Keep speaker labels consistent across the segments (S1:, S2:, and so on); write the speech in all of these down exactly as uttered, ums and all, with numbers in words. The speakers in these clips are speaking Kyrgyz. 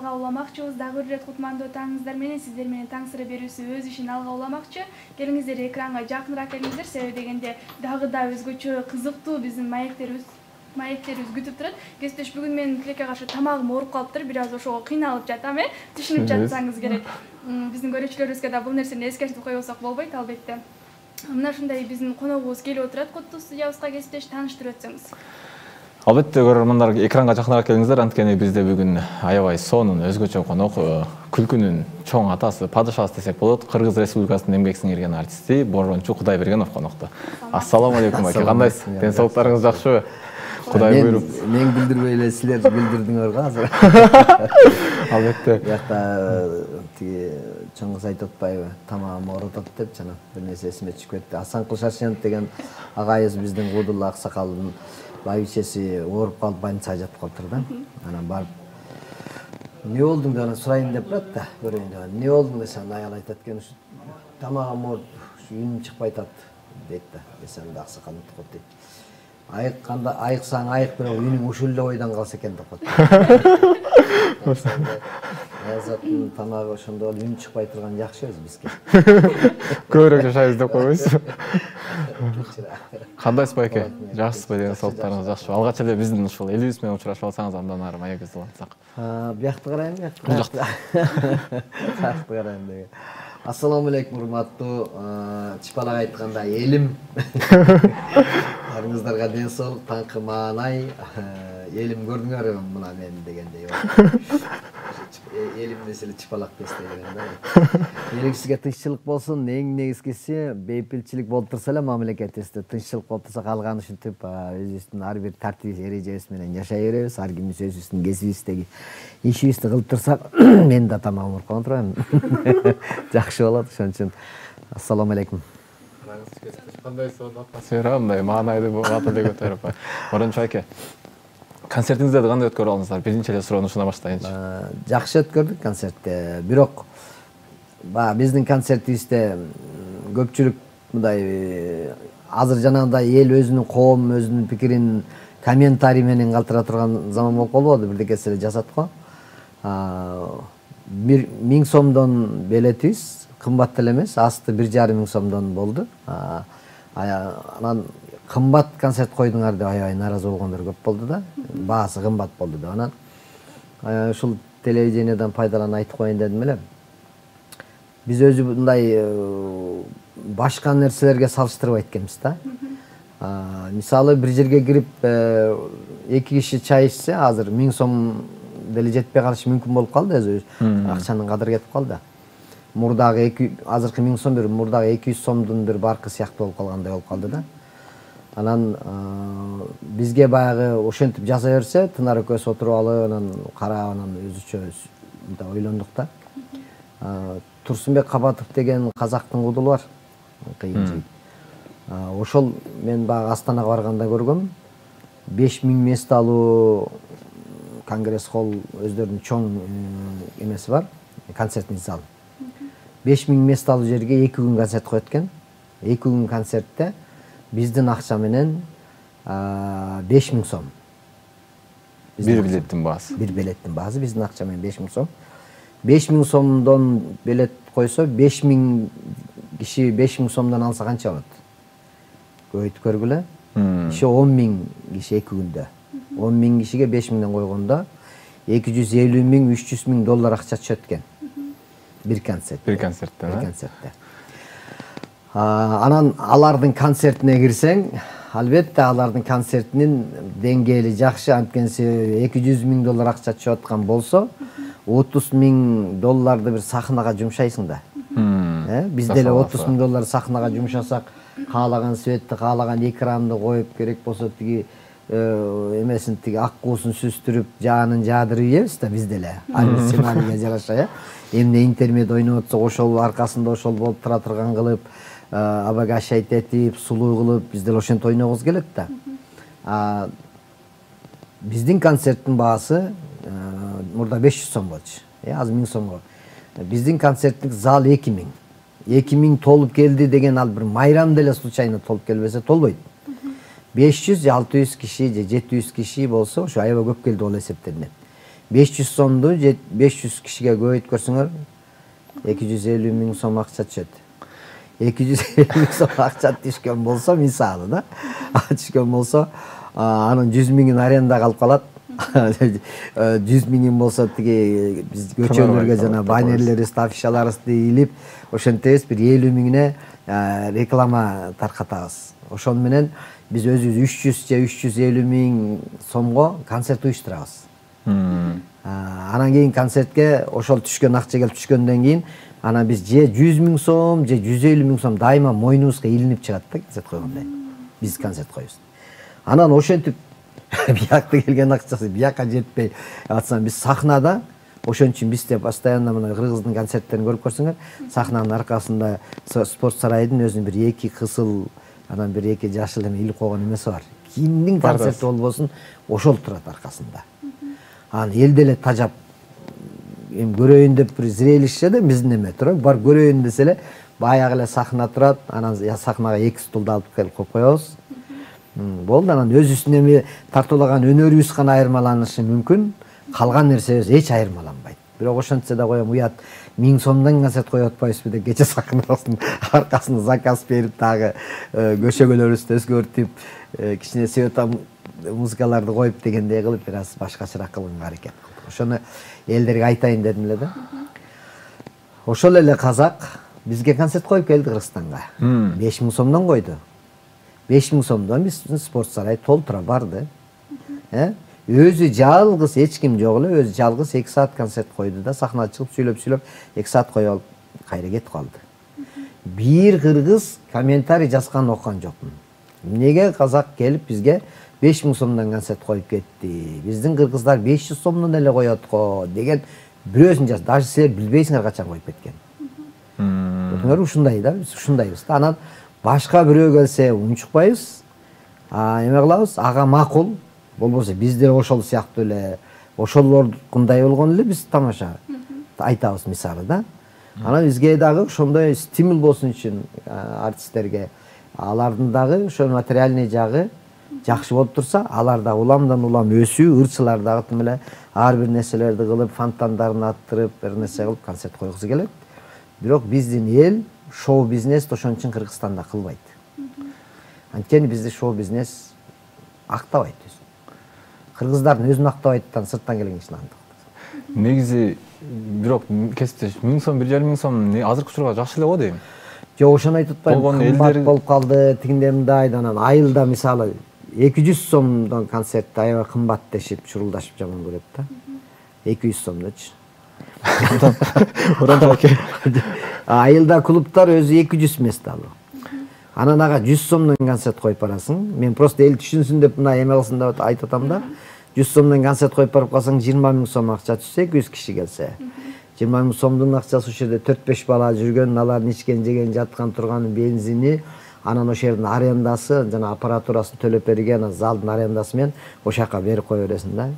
S1: алга уламакчыбыз. Дагы бир ирет Кутмандуу таңыңыздар менен сиздер менен таң сыра берүүсү өз ишин алга уламакчы. Келиңиздер экранга жакыныраак келиңиздер. Себеби дегенде дагы да өзгөчө кызыктуу биздин маектерибиз маектерибиз күтүп турат. Кесиптеш, бүгүн менин Тилекке каршы тамагым ооруп калыптыр. Бир аз ошого кыйналып жатам, э? Түшүнүп жатсаңыз керек. Биздин көрүүчүлөрүбүзгө да бул нерсени эскертип койбосок болбойт, албетте. Мына ушундай биздин коногубуз келип отурат. Куттуу студиябызга кесиптеш, тааныштырып өтсөңүз.
S2: Албетте, көрөрмандар, экранга жакыныраак келиңиздер. Анткени бизде бүгүн аябай сонун өзгөчө конок, күлкүнүн чоң атасы, падышасы десек болот. Кыргыз Республикасынын эмгек сиңирген артисти Борбончу Кудайбергенов конокто. Ассаламу алейкум аке, кандайсыз? Ден соолуктарыңыз жакшыбы? Кудай буйруп.
S3: Мен билдирбей эле силер билдирдиңер го азыр.
S2: Албетте.
S3: Бияқта тиги Чоңгуз айтып атпайбы, тамагым оорутат деп жана бир нерсе эсиме түшүп кетти. Асанкул Шаршенов деген агайыбыз биздин Куудулла аксакалдын байбичеси ооруп калып больницага жатып калыптыр да. Анан барып эмне болдуң деп анан сурайын деп барат да, көрөйүн деп. Эмне болдуң десем, аял айтат экен, ушу тамагым ооруп, ушу үнүм чыкпай атат дейт да. Десем да аксакал утуп дейт. Айыкканда айыксаң айык, бирок үнүң ушул эле ойдон калса экен деп коет. Аязаттын тамагы ошондо үн чыкпай турган жакшы өзү бизге.
S2: Көбүрөөк жашайбыз деп койбойсузбу? Кандайсыз байке? Жакшысызбы, деген соолуктарыңыз жакшыбы? Алгач эле биздин ушул элибиз менен учурашып алсаңыз, андан ары маегибизди улантсак.
S3: Биякты карайын, биякты. Биякты карайын деген. Ассаламу алейкум, урматтуу чыпалак айтканда элим. Арыңыздарга ден соолук, таңкы маанай, элим көрдүңөрбү мына мен дегендей. Элим десе эле чыпалак десе деген да. Элибизге тынччылык болсун, эң негизгиси бейпилчилик болуп турса эле мамлекетибизде тынччылык болуп турса, калган ушинтип өзүбүздүн ар бир тартип эрежебиз менен жашай беребиз. Ар кимибиз өзүбүздүн кесибибиздеги ишибизди кылып турсак, мен да тамагым ооруп калган турбайбы? Жакшы болот, ошон үчүн ассаламу алейкум.
S2: Кандай сонун атмосфера, мындай маанайды бат эле көтөрүп. Борончу айке, концертиңиздерди кандай өткөрүп алдыңыздар? Биринчи эле суроону ушундан баштайынчы.
S3: Жакшы өткөрдүк концертти. Бирок баягы биздин концертибизде көпчүлүк мындай азыр жанагындай эл өзүнүн коом өзүнүн пикирин комментарий менен калтыра турган заман болуп калбады, бирдекеси эле жасат го. Бир миң сомдон билетибиз кымбат деле эмес, асты бир жарым миң сомдон болду. Анан кымбат концерт койдуңар деп аябай нааразы болгондор көп болду да. Баасы кымбат болду деп. Анан ушул телевидениеден пайдаланып айтып коеюн дедим эле. Биз өзү мындай башка нерселерге салыштырбайт экенбиз да. Мисалы бир жерге кирип эки киши чай ичсе, азыр миң сом деле жетпей калышы мүмкүн болуп калды, өзү акчанын кадыры кетип калды. Мурдагы азыркы миң сом бир мурдагы эки жүз сомдун бир баркы сыяктуу болуп калгандай болуп калды да. Анан бизге баягы ошентип жасай берсе, Тынар экөөбүз отуруп алып, анан карап, анан өзүчө мындай ойлондук да. Турсунбек Кабатов деген казактын кудулу бар. Кыйын жигит. Ошол мен баягы Астанага барганда көргөм. беш миң мест алуу конгресс холл өздөрүнүн чоң эмеси бар, концертный зал. беш миң мест алуу жерге эки күн концерт коет экен. эки күн концертте биздин акча менен беш миң сом.
S2: Бир билеттин баасы.
S3: Бир билеттин баасы биздин акча менен беш миң сом. беш миң сомдон билет койсо, беш миң киши беш миң сомдон алса канча болот? Көбөйтүп көргүлө. Иши он миң киши эки күндө. он миң кишиге беш миңден койгондо эки жүз элүү миң, үч жүз миң доллар акча түшөт экен. Бир концерт.
S2: Бир концертте.
S3: Бир концертте. Анан алардын концертине кирсең, албетте алардын концертинин деңгээли жакшы, анткенси эки жүз миң доллар акча түшүп аткан болсо, отуз миң долларды бир сахнага жумшайсың да. Бизде эле отуз миң доллар сахнага жумшасак, каалаган светти, каалаган экранды коюп, керек болсо тиги эмесин тиги ак куусун сүзтүрүп, жаанын жаадырып ийебиз да бизде эле. Ар бир сценарийге жараша, э. Эмне интермед ойноп атса, ошол аркасында ошол болуп тура турган кылып, обогащать этип, сулуу кылып, бизде эле ошентип ойногубуз келет да. Биздин концерттин баасы мурда беш жүз сом болчу. Э, азыр миң сомго. Биздин концерттик зал эки миң. эки миң толуп келди деген ал бир майрам деле случайно толуп келбесе толбойт. беш жүз, алты жүз киши же жети жүз киши болсо, ошо аябай көп келди болуп эсептелинет. беш жүз сомду беш жүз кишиге көбөйткөрсөңөр эки жүз элүү миң сом акча түшөт. эки жүз элүү миң сом акча түшкөн болсо, мисалы да, түшкөн болсо, анын жүз миңин арендага алып калат. жүз миңин болсо тиги биз көчөлөргө жана баннерлерибизди, афишаларыбызды илип, ошентебиз бир элүү миңине реклама таркатабыз. Ошон менен биз өзүбүз үч жүз же үч жүз элүү миң сомго концерт уюштурабыз. Анан кийин концертке ошол түшкөн акча келип түшкөндөн кийин анан биз же жүз миң сом, же жүз элүү миң сом дайыма мойнубузга илинип чыгат да концерт койгондой. Биз концерт коебуз. Анан ошентип биякта келген акчасы бияка жетпей атсам, биз сахнада ошон үчүн бизде постоянно мына кыргыздын концерттерин көрүп көрсөңөр, сахнанын аркасында спорт сарайдын өзүнүн бир эки кызыл, анан бир эки жашыл эме илип койгон эмеси бар. Кимдин концерти болбосун ошол турат аркасында. Анан эл деле тажап эми көрөйүн деп бир зрелище да биздин эме тура, бар көрөйүн десе эле баягы эле сахна турат, анан сахнага эки стулду алып келип коюп коебуз. Болду, анан өзүбүздүн эми тартуулаган өнөрүбүз гана айырмаланышы мүмкүн, калган нерсебиз эч айырмаланбайт. Бирок ошентсе да коем, уят миң сомдон концерт коюп атпайбызбы деп кече сахнабыздын аркасында заказ берип, дагы көшөгөлөрүбүздү өзгөртүп, кичине света музыкаларды коюп дегендей кылып, бир аз башкачараак кылганга аракет кылдык. Ошону элдерге айтайын дедим эле да. Ошол эле казак бизге концерт коюп келди Кыргызстанга. беш миң сомдон койду. беш миң сомдон биздин спорт сарай толтура барды. Өзү жалгыз, эч ким жок эле, өзү жалгыз эки саат концерт койду да, сахнага чыгып сүйлөп-сүйлөп эки саат коюп алып кайра кетип калды. Бир кыргыз комментарий жазган окуган жокмун. Эмнеге казак келип бизге беш миң сомдон концерт коюп кетти? Биздин кыргыздар беш жүз сомдон эле коет го деген бирөөсүн жаз. Даже силер билбейсиңер качан коюп кеткен. Көрдүңөр, ушундай да, биз ушундайбыз да. Анан башка бирөө келсе унчукпайбыз. Эме кылабыз, ага макул. Болбосо биздер ошол сыяктуу эле, ошолордукундай болгон эле биз тамаша айтабыз мисалы да. Анан бизге дагы ошондой стимул болсун үчүн артисттерге, алардын дагы ошо материальный жагы жакшы болуп турса, алар да уламдан улам өсүү, ырчылар дагы тим эле ар бир нерселерди кылып, фонтандарын аттырып, бир нерсе кылып концерт койгусу келет. Бирок биздин эл шоу бизнес ошон үчүн Кыргызстанда кылбайт. Анткени бизди шоу бизнес актабайт. Кыргыздардын өзүн актабайттан сырттан келген кишини андык.
S2: Негизи бирок кесиптеш миң сом, бир жарым миң сом азыркы учурга жакшы эле го дейм.
S3: Жок, ошону айтып атпайм. Кымбат болуп калды, тигиндей мындай, анан айылда мисалы эки жүз сомдон концертти аябай кымбат дешип, шурулдашып жаман көрөт да. эки жүз сомдочу. Айылда клубтар өзү эки жүз эмес дагы. Анан ага жүз сомдон концерт коюп барасың. Мен просто эл түшүнсүн деп мына эме кылсын деп айтып атам да. жүз сомдон концерт коюп барып калсаң, жыйырма миң сом акча түшсө, эки жүз киши келсе. жыйырма миң сомдун акчасы ушул жерде төрт беш бала жүргөн, алардын ичкен, жеген, жаткан, турган бензини, анан ошол жердин арендасы, жана аппаратурасын төлөп берген, залдын арендасы менен ошол жака берип кое бересиң да.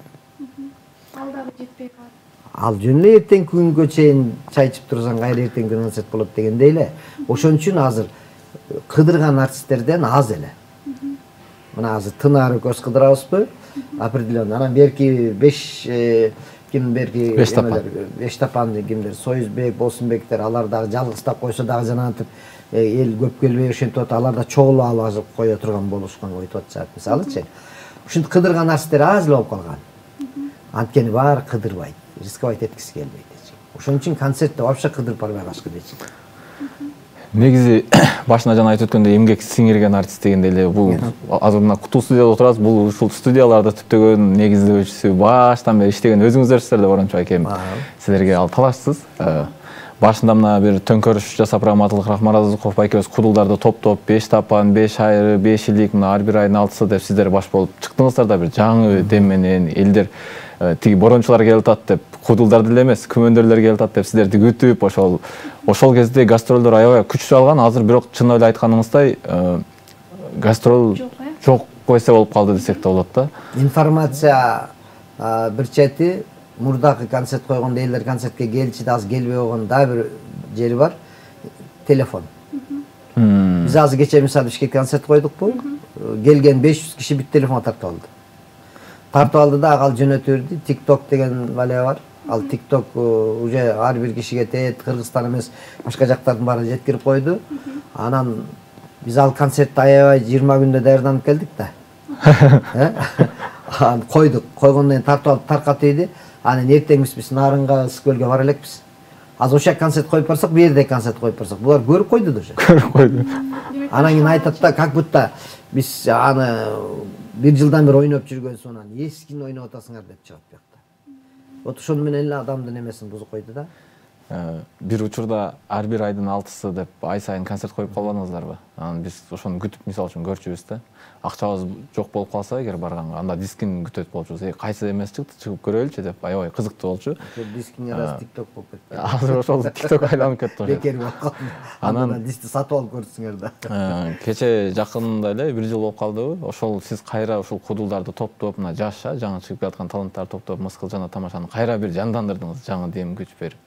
S1: Ал дагы жетпей калат.
S3: Ал жөн эле эртең күнгө чейин чай ичип турсаң, кайра эртең концерт болот дегендей эле. Ошон үчүн азыр кыдырган артисттерден аз эле. Мына азыр Тынары көз кыдырабызбы? Определенно. Анан берки беш ким берки эмелер, беш тапан кимдер, Союзбек, Болсунбектер, алар дагы жалгызтап койсо дагы жанагынтип эл көп келбей ошентип атат, алар да чогулуп алып кое турган болушкан айтып атышат. Мисалычы, ушинтип кыдырган артисттер аз эле болуп калган. Анткени баары кыдырбайт, рисковать эткиси келбейт. Ошон үчүн концертте вообще кыдырып барбай калышкы дейчи.
S2: Негизи башына жана айтып өткөндөй эмгек сиңирген артист дегенде эле бул азыр мына куту студияда отурабыз, бул ушул студияларда түптөгөн негиздөөчүсү баштан бери иштеген өзүңүздөрсүздөр да Борончу айкем. Силерге ал талашсыз. Башында мына бир төңкөрүш жасап, Раматылык Рахмаразыков айкебиз кудулдарды топтоп, беш тапан, беш айры, беш илик, мына ар бир айдын алтысы деп сиздер баш болуп чыктыңыздар да, бир жаңы дем менен элдер тиги борончулар келип атат деп, кудулдар деле эмес, күмөндөрлөр келип атат деп сиздерди күтүп, ошол ошол кезде гастролдор аябай күчтүү алган. Азыр бирок чын эле айтканыңыздай гастрол жок койсе болуп калды десек да болот да.
S3: Информация бир чети, мурдагы концерт койгондо элдер концертке келчи да азыр келбей койгон да бир жери бар. Телефон. Биз азыр кече мисалы Бишкек концерт койдукпу? Келген беш жүз киши бүт телефонго тартып алды. тартып алды да ал жөнөтүп берди. TikTok деген бале бар. Ал TikTok уже ар бир кишиге тет, Кыргызстан эмес, башка жактардын баары жеткирип койду. Анан биз ал концертти аябай жыйырма күндө даярданып келдик да. Аны койдук. Койгондон кийин тартып алып таркатып ийди. Анан эртең биз Нарынга, Ысык-Көлгө бара элекпиз. Азыр ошо концерт коюп барсак, бу жерде концерт коюп барсак, булар көрүп койду да уже.
S2: Көрүп койду.
S3: Анан кийин айтат да, как будто биз аны бир жылдан бери ойноп жүргөн соң анан эскини ойноп атасыңар деп чыгат бuyакта. Вот ошону менен эле адамдын эмесин бузуп койду да.
S2: Бир учурда ар бир айдын алтысы деп ай сайын концерт коюп калбадыңыздарбы? Анан биз ошону күтүп мисалы үчүн көрчүбүз да. Акчабыз жок болуп калса эгер барганга, анда дискин күтөт болчубуз. Э, кайсы эмес чыкты, чыгып көрөлүчү деп аябай кызыктуу болчу.
S3: Дискин раз TikTok болуп кетти.
S2: Азыр ошол TikTok айланып кетти ошо.
S3: Бекер болуп калды. Анан дисти сатып алып көрсүңөр да.
S2: Кече жакында эле бир жыл болуп калдыбы? Ошол сиз кайра ушул кудулдарды топтоп, мына жаша, жаңы чыгып жаткан таланттарды топтоп, Мыскыл жана тамашаны кайра бир жандандырдыңыз, жаңы дем күч берип.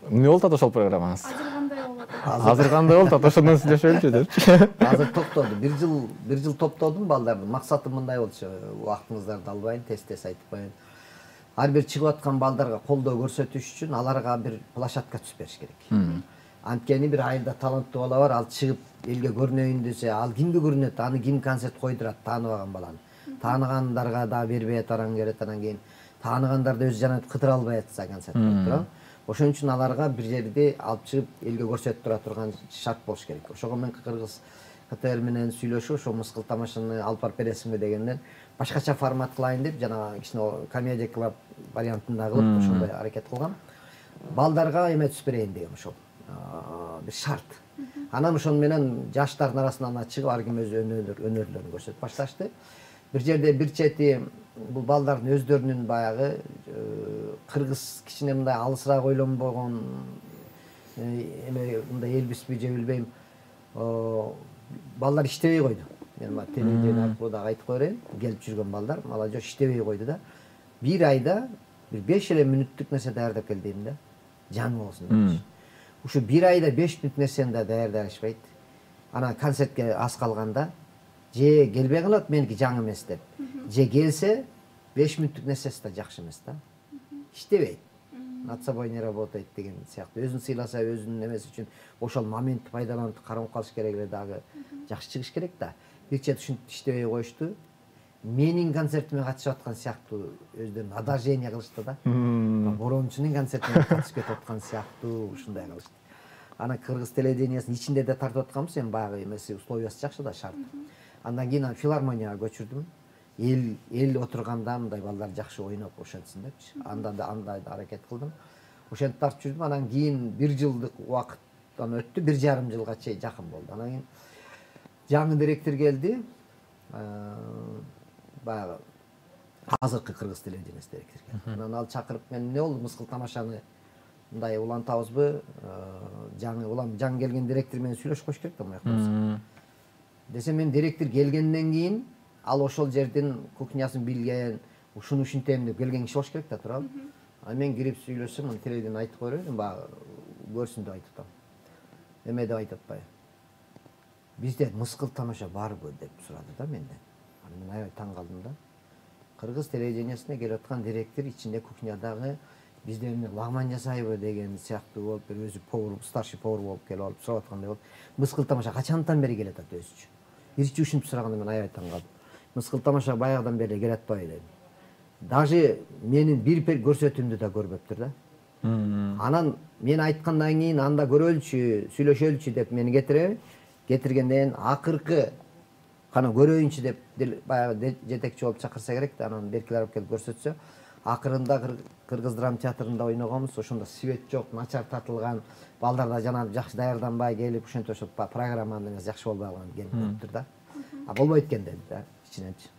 S2: Эмне болуп атат ошол программаңыз?
S1: Азыр кандай болуп атат?
S2: Азыр кандай болуп атат? Ошондон сүйлөшөлүчү депчи.
S3: Азыр токтоду. Бир жыл, бир жыл топтодум балдарды. Максатым мындай болчу. Убактыңыздарды албайын, тез-тез айтып коеюн. Ар бир чыгып аткан балдарга колдоо көрсөтүш үчүн аларга бир площадка түзүп бериш керек. Анткени бир айылда таланттуу бала бар, ал чыгып элге көрүнөйүн десе, ал кимге көрүнөт? Аны ким концерт койдурат, тааныбаган баланы. Тааныгандарга да бербей атаран керек, анан кийин тааныгандар да өз жанат кыдыра албай атса концерт коюп тура. Ошон үчүн аларга бир жерде алып чыгып элге көрсөтүп тура турган шарт болуш керек. Ошого мен Кыргыз КТР менен сүйлөшүп, ошо Мыскыл тамашаны алып барып бересиңби дегенден башкача формат кылайын деп жана кичине комедия клуб вариантында кылып ошондой аракет кылгам. Балдарга эме түзүп берейин дегем ошол. Бир шарт. Анан ошону менен жаштардын арасынан чыгып ар ким өз өнөрлөрүн көрсөтүп башташты. Бир жерде бир чети бул балдардын өздөрүнүн баягы кыргыз кичине мындай алысыраак ойлонбогон эме мындай элбизби же билбейм, балдар иштебей койду. Мен мына телевидение аркылуу дагы айтып кое берейин. Келип жүргөн балдар молодежь иштебей койду да. Бир айда бир беш эле мүнөттүк нерсе даярдап кел дейм да. Жаңы болсун депчи. Ушу бир айда беш мүнөт нерсени да даярдай алышпайт. Анан концертке аз калганда же келбей калат меники жаңы эмес деп. Же келсе беш мүнөттүк нерсеси да жакшы эмес да. Иштебейт. Над собой не работает деген сыяктуу. Өзүн сыйласа, өзүнүн эмеси үчүн ошол моментти пайдаланып карап калыш керек эле дагы. Жакшы чыгыш керек да. Бир чет ушинтип иштебей коюшту. Менин концертиме катышып аткан сыяктуу өздөрүн одолжение кылышты да. Борончунун концертине катышып кетип аткан сыяктуу ушундай кылышты. Ана Кыргыз телевидениясынын ичинде да тартып атканбыз, эми баягы эмеси условиясы жакшы да, шарт. Андан кийин филармонияга көчүрдүм. Эл эл отурганда мындай балдар жакшы ойноп ошентсин депчи. Анда да андай аракет кылдым. Ошентип тартып жүрдүм. Анан кийин бир жылдык убакыттан өттү, бир жарым жылга чейин жакын болду. Анан кийин жаңы директор келди. Баягы азыркы Кыргыз телевидениясы директору. Анан ал чакырып, мен эмне болду, Мыскыл тамашаны мындай улантабызбы? Жаңы улам жаңы келген директор менен сүйлөшүп коюш керек да мыякта. Десе, мен директор келгенден кийин ал ошол жердин кухнясын билген, ушуну ушинтем деп келген киши болуш керек да, туурабы? А мен кирип сүйлөшсөм, аны телевидение айтып кое бердим, баягы көрсүн деп айтып атам. Эме деп айтып атпайбы? Бизде Мыскыл тамаша барбы деп сурады да менден. Аны мен аябай таң калдым да. Кыргыз телевидениясына келип аткан директор ичинде кухнядагы бизде эмне лагман жасайбы деген сыяктуу болуп, бир өзү повар, старший повар болуп келип алып сурап аткандай болуп. Мыскыл тамаша качандан бери келет атат өзүчө? Биринчи ушинтип сураганда мен аябай таң калдым. Мыскыл тамаша баягыдан бери келет атпайбы дедим. Даже менин бир көрсөтүүмдү да көрбөптүр да. Анан мен айткандан кийин анда көрөлүчү, сүйлөшөлүчү деп мени кетире, кетиргенден акыркы кана көрөйүнчү деп баягы жетекчи болуп чакырса керек да, анан беркилер алып келип көрсөтсө, акырында Кыргыз драма театрында ойногонбуз, ошондо свет жок, начар татылган, балдар да жана жакшы даярданбай келип, ошентип ошо программанын эмеси жакшы болбой калган келип көрүптүр да. А болбойт экен деди да, ичиненчи.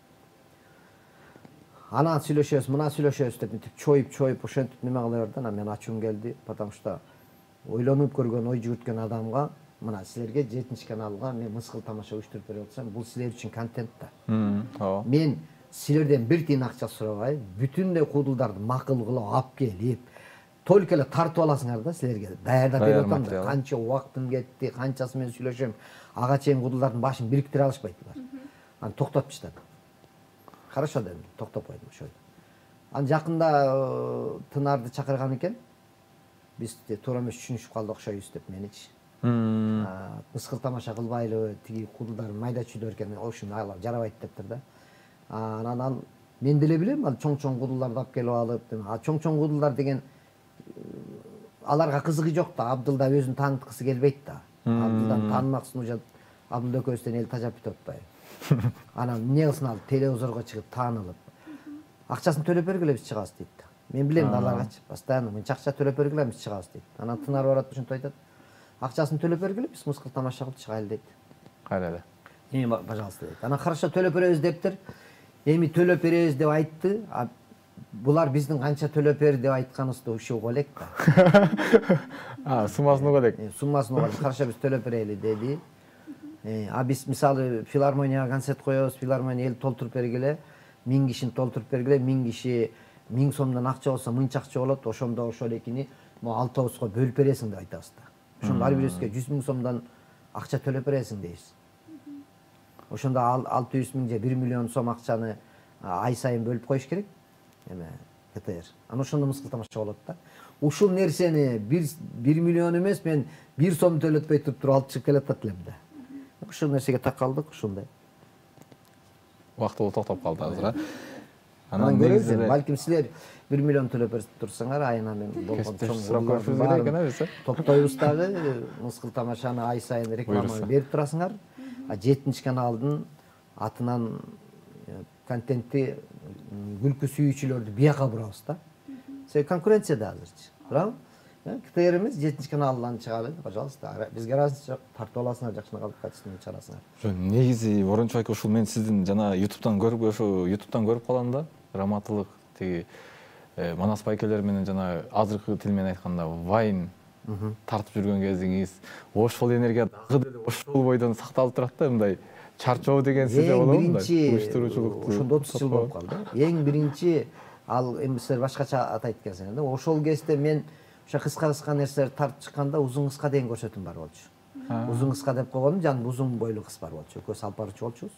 S3: Анан сүйлөшөбүз, мына сүйлөшөбүз деп мынтип чоюп-чоюп ошентип неме кыла берди. Анан мен ачуум келди, потому что ойлонуп көргөн, ой жүгүрткөн адамга, мына силерге жетинчи каналга мен Мыскыл тамаша уюштуруп берип атсам, бул силер үчүн контент да. Мен силерден бир тиын акча сурабай, бүтүндөй кудулдарды макул кылып алып келип, только эле тартып аласыңар да силерге. Даярдап берип атам да. Канча убактым кетти, канчасы менен сүйлөшөм. Ага чейин кудулдардын башын бириктире алышпайт булар. Аны токтотуп таштады. Хорошо дедим, токтоп койдум ошол. Анан жакында Тынарды чакырган экен. Биз туура эмес түшүнүшүп калдык окшойбуз деп меничи. Мыскыл тамаша кылбайлыбы, тиги кудулдар майда чүйдөр экен, ошону алып жарабайт дептир да. Анан мен деле билем, ал чоң-чоң кудулдарды алып келип алып, а чоң-чоң кудулдар деген аларга кызыгы жок да, Абдылда өзүн тааныткысы келбейт да. Абдылдан таанымаксын уже Абдылда экөөбүздөн эл тажап бүтүп атпайбы. Анан эмне кылсын ал телевизорго чыгып таанылып, акчасын төлөп бергиле биз чыгабыз дейт да. Мен билем да аларгачы, постоянно мынча акча төлөп бергиле биз чыгабыз дейт. Анан Тынар барат ушинтип айтат. Акчасын төлөп бергиле биз мыскыл тамаша кылып чыгайлы дейт.
S2: Кайра эле.
S3: Эми пожалуйста дейт. Анан хорошо төлөп беребиз дептир. Эми төлөп беребиз деп айтты. Булар биздин канча төлөп бер деп айтканыбызды ушуга элек да.
S2: А, суммасын уга элек.
S3: Суммасын уга. Хорошо биз төлөп берели деди. А биз мисалы филармонияга концерт коебуз, филармония эл толтуруп бергиле, миң кишини толтуруп бергиле, миң киши миң сомдон акча болсо мынча акча болот, ошондо ошол экини могу алтыбызга бөлүп бересиң деп айтабыз да. Ошондо ар бирибизге жүз миң сомдон акча төлөп бересиң дейбиз. Ошондо алты жүз миң же бир миллион сом акчаны ай сайын бөлүп коюш керек. Эме КТР. Анан ошондо мыскыл тамаша болот да. Ушул нерсени бир миллион эмес, мен бир сом төлөтпөй туруп алып чыгып келатат элем да. Ушул нерсеге такалдык, ушундай.
S2: Убактылуу токтоп калды азыр, а?
S3: Анан көрөбүз, балким силер бир миллион төлөп турсаңар, айына мен болгон чоң топтойбуз дагы, мыскыл тамашаны ай сайын рекламаны берип турасыңар. А жетинчи каналдын атынан контентти күлкү сүйүүчүлөрдү бияка бурабыз да. Себеби конкуренция да азырчы. Туурабы? КТР эмес, жетинчи каналдан чыгалы, пожалуйста. Бизге разница жок, тартып аласыңар, жакшына калып качсын чыгарасыңар.
S2: Жо, негизи Борончу айка ушул мен сиздин жана YouTube'дан көрүп, ошо YouTube'дан көрүп калам да. Раматылык тиги Манас байкелер менен жана азыркы тил менен айтканда Вайн тартып жүргөн кезиңиз, ошол энергия дагы деле ошол бойдон сакталып турат да, мындай чарчоо деген сизде болобу?
S3: Уюштуруучулукту ошондо отуз жыл болуп калды. Эң биринчи ал эми силер башкача атайт экенсиңер да. Ошол кезде мен ошо кыска-кыска нерселерди тартып чыкканда узун кыска деген көрсөтүм бар болчу. Узун кыска деп койгонум жанында узун бойлуу кыз бар болчу. Экөөбүз алып барчу болчубуз.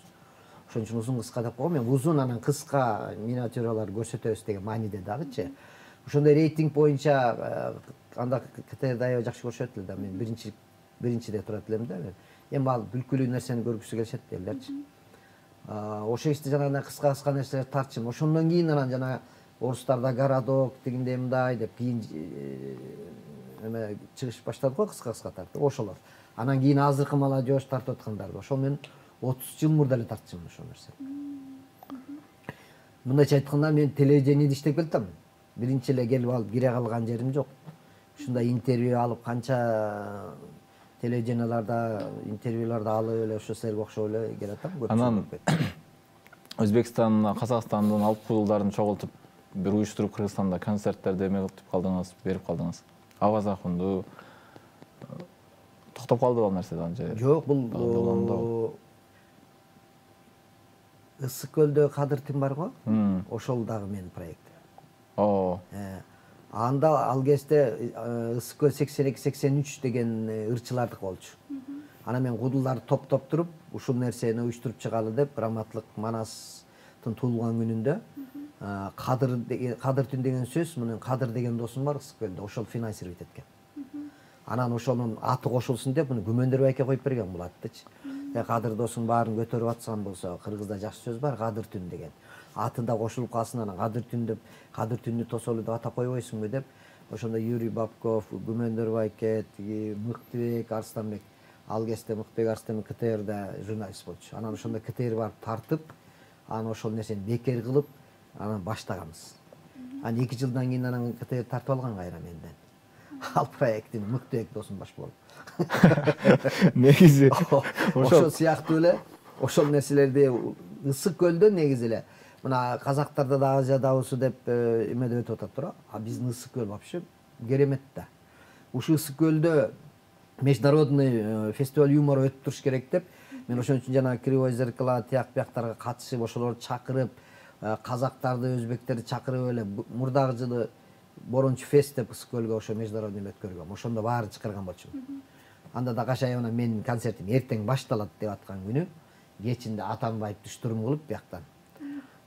S3: Ошон үчүн узун кыска деп койгом. Мен узун анан кыска миниатюралар көрсөтөбүз деген мааниде дагычы. Ошондой рейтинг боюнча анда КТР аябай жакшы көрүшөт эле да. Мен биринчи биринчиде турат элем да. Эми ал бүлкүлүү нерсени көргүсү келишет элдерчи. Ошол кезде жанагындай кыска-кыска нерселерди тартчумун. Ошондон кийин анан жана орустарда городок дегенде мындай деп кийин эме чыгыш баштадык го кыска-кыска тартып. Ошолор. Анан кийин азыркы молодежь тартып аткандар. Ошол мен отуз жыл мурда эле тартчумун ошол нерсени. Мындайча айтканда мен телевидениеде иштеп келатам. Биринчи эле келип алып кире калган жерим жок. Ушундай интервью алып канча телевиденияларда интервьюларды алып эле ошо силерге окшоп эле келатам.
S2: Анан Өзбекстан, Казакстандын алып кудулдарын чогултуп бир уюштуруп Кыргызстанда концерттерди эме кылып калдыңыз, берип калдыңыз. Аваз Акунду токтоп калды ал нерсе анча.
S3: Жок, бул Ысык көлдө Кадыр Тим бар го? Ошол дагы менин проект.
S2: О.
S3: Анда ал кезде Ысык көл сексен эки сексен үч деген ырчылардык болчу. Анан мен кудулдарды топтоп туруп, ушул нерсени уюштуруп чыгалы деп, Раматылык Манастын туулган күнүндө Кадыр Кадыр Тим деген сөз, менен Кадыр деген досум бар Ысык көлдө, ошол финансировать эткен. Анан ошонун аты кошулсун деп, муну Күмөндөр байке коюп берген бул аттычы. Кадыр досуң баарын көтөрүп атсаң болсо, кыргызда жакшы сөз бар, Кадыр Түн деген. Аты да кошулуп калсын, анан Кадыр Түн деп, Кадыр Түндү Тосолу деп атап койбойсуңбу деп, ошондо Юрий Бабков, Күмөндөр байке, Мыктыбек Арстанбек, ал кезде Мыктыбек Арстанбек КТРда журналист болчу. Анан ошондо КТР барып тартып, анан ошол нерсени бекер кылып, анан баштаганбыз. Анан эки жылдан кийин анан КТР тартып алган кайра менден. Ал проекттин Мыктыбек досум баш болуп.
S2: Негизи
S3: ошол сыяктуу эле ошол нерселерди Ысык көлдө негизи эле мына казактарда да Азия дабысы деп эме деп өтүп атат тура. А биздин Ысык көл вообще керемет да. Ушул Ысык көлдө международный фестиваль юмора өтүп туруш керек деп мен ошон үчүн жана Кривой зеркало тияк бияктарга катышып, ошолорду чакырып, казактарды, өзбектерди чакырып эле мурдагы жылы Борончу фест деп Ысык көлгө ошо международный өткөргөм. Ошондо баары чакырган болчумун. Анда да кашайына менин концертим эртең башталат деп аткан күнү кечинде Атамбаевди штурм кылып бияктан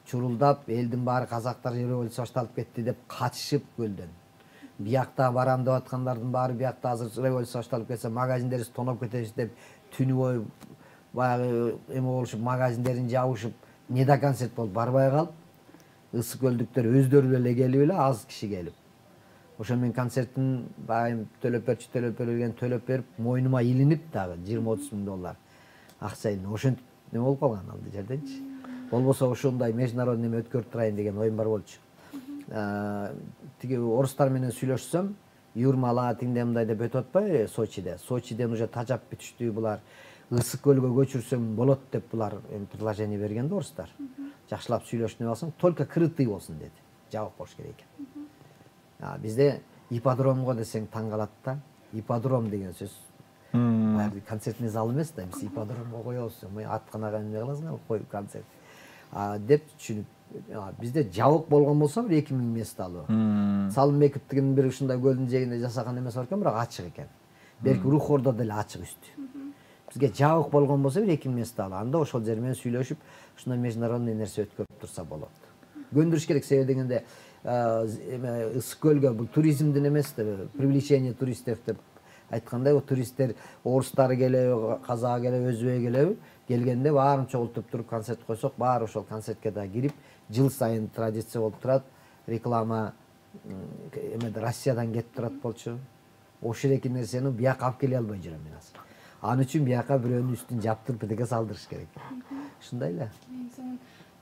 S3: чурулдап, элдин баары казактар революция башталып кетти деп качышып көлдөн. Биякта барам деп аткандардын баары биякта азыр революция башталып кетсе магазиндерибиз тоноп кетебиз деп түнү бою баягы эме болушуп магазиндерин жабышып неда концерт болуп барбай калып, ысык көлдүктөр өздөрү эле келип эле аз киши келип. Ошо мен концерттин байым төлөп берчи төлөп берген төлөп берип мойнума илинип дагы жыйырма отуз миң доллар акча илинип ошентип неме болуп калган ал жерденчи. Болбосо ошондой международный эме өткөрүп турайын деген оюм бар болчу. Тиги орустар менен сүйлөшсөм, Юрмала тиңде мындай деп өтүп атпайбы Сочиде. Сочиден уже тажап бүтүштү булар. Ысык көлгө көчүрсөң болот деп булар предложение берген да орустар. Жакшылап сүйлөшүп алсаң, только крытый болсун деди. Жабык болуш керек экен. Бизде ипподромго десең таң калат да. Ипподром деген сөз баягы концертный зал эмес да, биз ипподромго коебуз. Мен атканага эмне кыласың, коюп концерт. деп түшүнүп, бизде жабык болгон болсо бир эки миң месталуу. Салым Мекиптигин бир ушундай көлдүн жээгинде жасаган эмес бар экен, бирок ачык экен. Берки Рухордо деле ачык үстү. Бизге жабык болгон болсо бир эки миң месталуу. Анда ошол жер менен сүйлөшүп, ушундай международный нерсе өткөрүп турса болот. Көндүрүш керек, себеби дегенде эме ысык көлгө бул туризмдин эмес да, привлечение туристов деп айткандай, о туристтер орустары келеби, казак келеби, өзбек келеби, келгенде баарын чогултуп туруп концерт койсок, баары ошол концертке да кирип, жыл сайын традиция болуп турат. Реклама эмеде Россиядан кетип турат болчу. Ошол эки нерсени бияка алып келе албай жүрөм мен азыр. Аны үчүн бияка бирөөнүн үстүн жаптырып бирдеке салдырыш керек. Ушундай эле.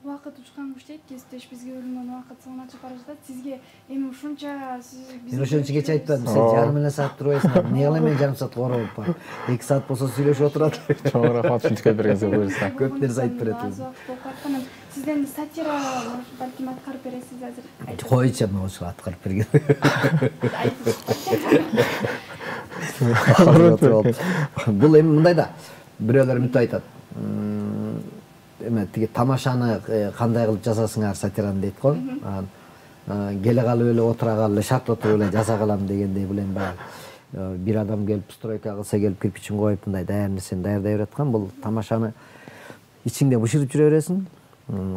S1: Убакыт учкан куштайт, кесиптеш бизге бөлүнгөн убакыт соңуна чыгып бара жатат. Сизге эми ушунча
S3: мен ошончо кеч айтпадым, сен жарым эле саат турбайсың. Эмне кылам мен жарым саат короп бар. эки саат болсо сүйлөшүп отурат.
S2: Чоң рахмат ушинтип бергениңизге буюрса.
S3: Көп нерсе айтып берет.
S1: Аз убакыт болуп калган. Сизден сатира балким аткарып бересиз азыр.
S3: Койчу мен ошо аткарып берген. Бул эми мындай да, бирөөлөр мынтип айтат. Эме тиги тамашаны кандай кылып жасасыңар сатираны дейт го. Келе калып эле отура калып эле шарт отуруп эле жаза калам дегендей бул эми баягы бир адам келип стройка кылса келип кирпичин коюп мындай даяр нерсени даярдай бераткан. Бул тамашаны ичиңде бышырып жүрө бересиң,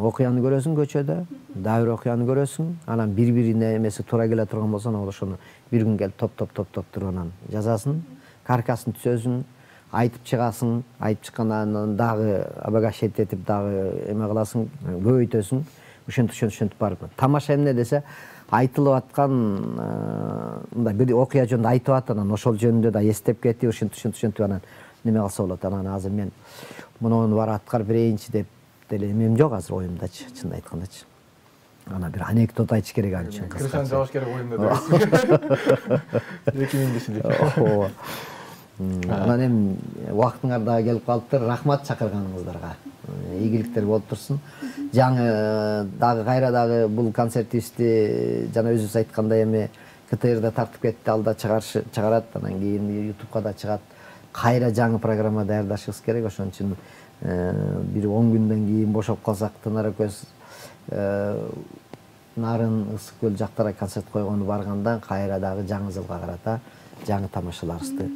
S3: окуяны көрөсүң көчөдө, дагы бир окуяны көрөсүң, анан бири-бирине эмеси туура келе турган болсо, анан ошону бир күн келип топ-топ-топ-топ туруп анан жазасың, каркасын түзөсүң, айтып чыгасың, айтып чыккандан дагы обогащать этип дагы эме кыласың, көбөйтөсүң, ошентип ошентип барып. Тамаша эмне десе, айтылып аткан мындай бир окуя жөнүндө айтып атат, анан ошол жөнүндө да эстеп кетип, ошентип ошентип анан неме кылса болот. Анан азыр мен муну бар аткарып берейинчи деп деле эмем жок азыр оюмдачы, чынын айткандачы. Ана бир анекдот айтыш керек ал үчүн.
S2: Крышаны жабыш керек оюмда дебесиз. эки миң бешинчи.
S3: Анан эми убактыңар дагы келип калыптыр. Рахмат чакырганыңыздарга. Ийгиликтер болуп турсун. Жаңы дагы кайра дагы бул концертибизди жана өзүбүз айткандай эми ка тэ эрде тартып кетти, алда чыгарат, анан кийин ютубка да чыгат. Кайра жаңы программа даярдашыбыз керек. Ошон үчүн бир он күндөн кийин бошоп калсак, Тынар экөөбүз нарын ысык көл жактара концерт койгону барганда кайра дагы жаңы жылга карата жаңы тамашаларыбызды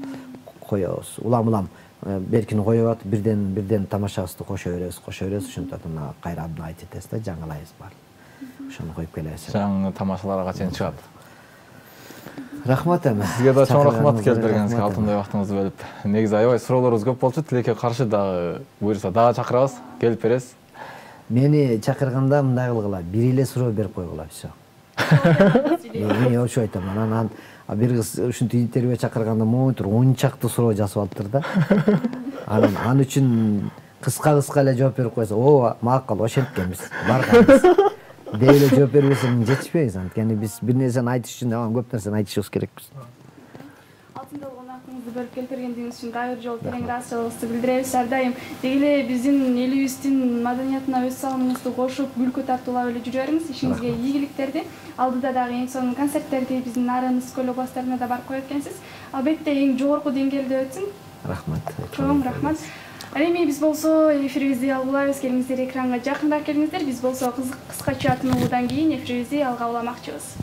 S3: коебуз. Улам-улам беркини коюп атып, бирден бирден тамашабызды кошо беребиз, кошо беребиз, ошентип мына кайра абдан айтып этебиз да, жаңылайбыз бар. Ошону коюп келебиз.
S2: Жаңы тамашаларга качан чыгат?
S3: Рахмат эми.
S2: Сизге да чоң рахмат келип бергениңизге, алтындай убактыңызды бөлүп. Негизи аябай суроолорубуз көп болчу. Тилекке каршы дагы буюрса дагы чакырабыз, келип бересиз.
S3: Мени чакырганда мындай кылгыла, бир эле суроо берип койгула, все. Мен ошо айтам. Анан бир кыз ушинтип интервью чакырганда монитор он чакты суроо жазып алыптыр да. Анан ал үчүн кыска-кыска эле жооп берип койсо, о, макул, ошенткенбиз, барганбыз. Деп эле жооп бербесең жетишпейбиз. Анткени биз бир нерсени айтыш үчүн көп нерсени айтышыбыз керекпиз.
S1: Алтында болгон акыңызды бөлүп келип бергениңиз үчүн дагы бир жолу терең ыраазычылыгыбызды билдиребиз. Ар дайым деги эле биздин элибиздин маданиятына өз салымыңызды кошуп, күлкү тартуулап эле жүрө бериңиз. Ишиңизге ийгиликтерди. Алдыда дагы эң сонун концерттерди биздин Нарын, Ысык көл областтарына да барып коет экенсиз. Албетте эң жогорку деңгээлде өтсүн.
S3: Рахмат.
S1: Чоң рахмат. Ал эми биз болсо эфирибизди алгылайбыз. Келиңиздер экранга жакыныраак келиңиздер. Биз болсо кыскача тынуулуудан кийин эфирибизди алга уламакчыбыз.